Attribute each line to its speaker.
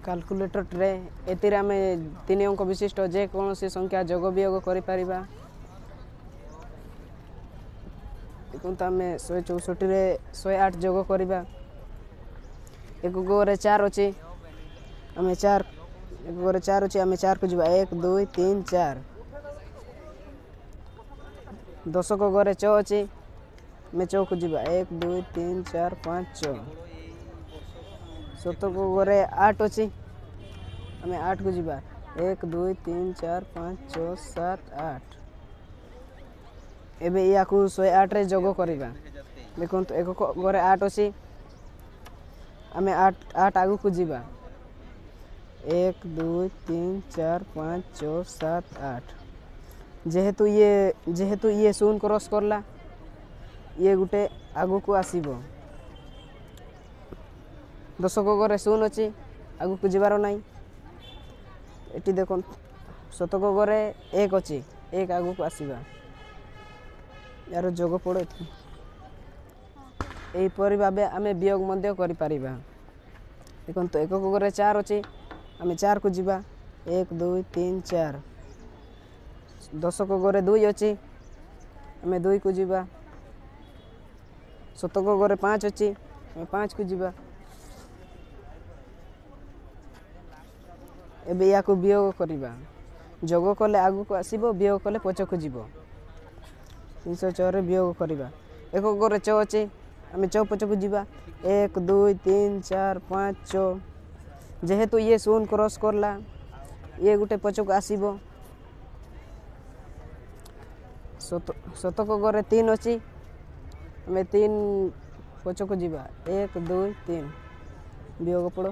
Speaker 1: Calculator tray, ଏଥିରେ ଆମେ 3 ଅଙ୍କ ବିଶିଷ୍ଟ ଯେକୌଣସି ସଂଖ୍ୟା ଯୋଗ ବିୟୋଗ କରିପାରିବା। ଦେଖନ୍ତୁ, ଆମେ 164ରେ 108 ଯୋଗ କରିବା। ଏକକରେ 4 ଅଛି, ଆମେ 4, ଏକକରେ 4 ଅଛି, ଆମେ 4କୁ ଯିବା। 1, 2, 3, 4। ଦଶକ ଘରେ 6 ଅଛି, ଆମେ 6କୁ ଯିବା। 1, 2, 3, 4, 5, 6। ଶତକ ଘରେ 8 ଅଛି, ଆମେ 8କୁ ଯିବା। 1, 2, 3, 4, 5, 6, 7, 8। ଏବେ ୟାକୁ 108ରେ ଯୋଗ କରିବା। ଦେଖନ୍ତୁ, ଏକକ ଘରେ 8 ଅଛି, ଆମେ 8, 8 ଆଗକୁ ଯିବା। 1, 2, 3, 4, 5, 6, 7, 8। ଯେହେତୁ ଇଏ 0 କ୍ରସ୍ କଲା, ଇଏ ଗୋଟେ ଆଗକୁ ଆସିବ। ଦଶକ ଘରେ 0 ଅଛି, ଆଗକୁ ଯିବାର ନାହିଁ। ଏଠି ଦେଖନ୍ତୁ, ଶତକ ଘରେ 1 ଅଛି, 1 ଆଗକୁ ଆସିବା। ଏହାର ଯୋଗ ପଡ଼ ଏଠି। ଏହିପରି ଭାବେ ଆମେ ବିୟୋଗ ମଧ୍ୟ କରିପାରିବା। ଦେଖନ୍ତୁ, ଏକକ ଘରେ 4 ଅଛି, ଆମେ 4କୁ ଯିବା। 1, 2, 3, 4। ଦଶକ ଘରେ 2 ଅଛି, ଆମେ 2କୁ ଯିବା। ଶତକ ଘରେ 5 ଅଛି, ଆମେ 5କୁ ଯିବା। ଏବେ ୟାକୁ ବିୟୋଗ କରିବା। ଯୋଗ କଲେ ଆଗକୁ ଆସିବ, ବିୟୋଗ କଲେ ପଛକୁ ଯିବ। 306ରେ ବିୟୋଗ କରିବା। ଏକକ ଘରେ 6 ଅଛି, ଆମେ 6 ପଛକୁ ଯିବା। 1, 2, 3, 4, 5, 6। ଯେହେତୁ ଇଏ 0 କ୍ରସ୍ କଲା, ଇଏ ଗୋଟେ ପଛକୁ ଆସିବ। ଶତକ ଘରେ 3 ଅଛି, ଆମେ 3 ପଛକୁ ଯିବା। 1, 2, 3। ବିୟୋଗ ପଡ଼।